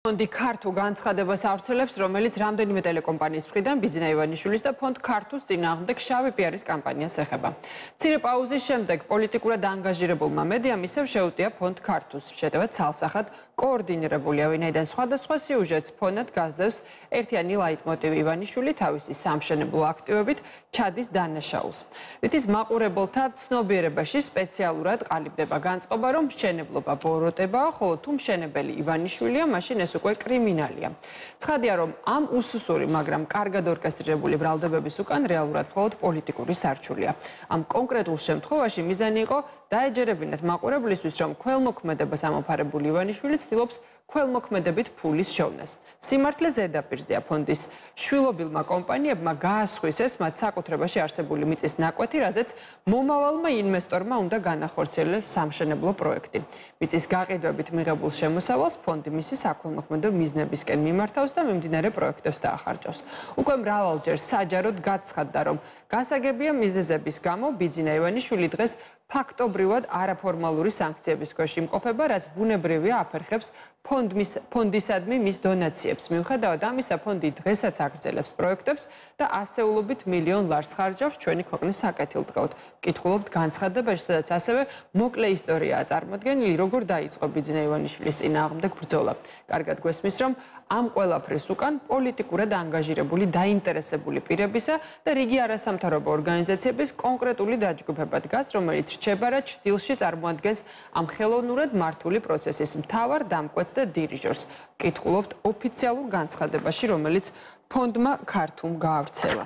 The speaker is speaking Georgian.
ფონდი ქართულ განცხადებას ავრცელებს, რომელიც რამდენიმე ტელეკომპანიის მხრიდან ბიძინა ივანიშვილის და ფონდ ქართულს წინააღმდეგ შავი პიარის კამპანიას ეხება. მცირე პაუზის შემდეგ პოლიტიკურად ანგაჟირებულმა მედიამ ისევ შეუტია ფონდ ქართულს. შეტევა ცალსახად კოორდინირებულია, ვინაიდან სხვადასხვა სიუჟეტს ფონად გასდევს ერთიანი ლაიტმოტივი ივანიშვილი თავისი სამშენებლო აქტივებით ჩადის დანაშაულს. რითიც მაყურებელთა ცნობიერებაში სპეციალურად ყალიბდება განწყობა, რომ მშენებლობა ბოროტებაა, ხოლო თუ მშენებელი ივანიშვილია, მაშინ ეს უკვე კრიმინალია. ცხადია, რომ ამ უსუსური, მაგრამ კარგად ორკესტრირებული ბრალდებების უკან რეალურად მხოლოდ პოლიტიკური სარჩულია. ამ კონკრეტულ შემთხვევაში მიზანი იყო დაეჯერებინათ მაყურებლისთვის, რომ ქველმოქმედებას ამოფარებული ივანიშვილი ცდილობს ქველმოქმედებით ფულის შოვნას. სიმართლე ზედაპირზეა ფონდის შვილობილმა კომპანიებმა გაასხვისეს მათ საკუთრებაში არსებული მიწის ნაკვეთი, რაზეც მომავალმა ინვესტორმა უნდა განახორციელოს სამშენებლო პროექტი. მიწის გაყიდვებით მიღებულ შემოსავალს ფონდი მისი საქველმოქმედო მიზნებისკენ მიმართავს და მიმდინარე პროექტებს დაახარჯავს. უკვე მრავალჯერ საჯაროდ გაცხადდა, რომ გასაგებია მიზეზების გამო ბიძინა ივანიშვილი დღეს ფაქტობრივად არაფორმალური სანქციების ქვეშ იმყოფება, რაც ბუნებრივია აფერხებს ფონდისადმი მის დონაციებს. მიუხედავად ამისა, ფონდი დღესაც აგრძელებს პროექტებს და ასეულობით მილიონ ლარს ხარჯავს ჩვენი ქვეყნის საკეთილდღეოდ. ვკითხულობთ განცხადებაში, სადაც ასევე მოკლე ისტორიაა წარმოდგენილი, როგორ დაიწყო ბიძინა ივანიშვილის წინააღმდეგ ბრძოლა. კარგად გვესმის, რომ ამ ყველაფრის უკან პოლიტიკურად ანგაჟირებული დაინტერესებული პირებისა და რიგი არასამთავრობო ორგანიზაციების კონკრეტული დაჯგუფება დგას, რომელიც რჩება რა ჭრილში წარმოადგენს ამ ხელოვნურად მართული პროცესის მთავარ დამკვეთს და დირიჟორს. ვკითხულობთ ოფიციალურ განცხადებაში, რომელიც ფონდმა ქართულმა გაავრცელა.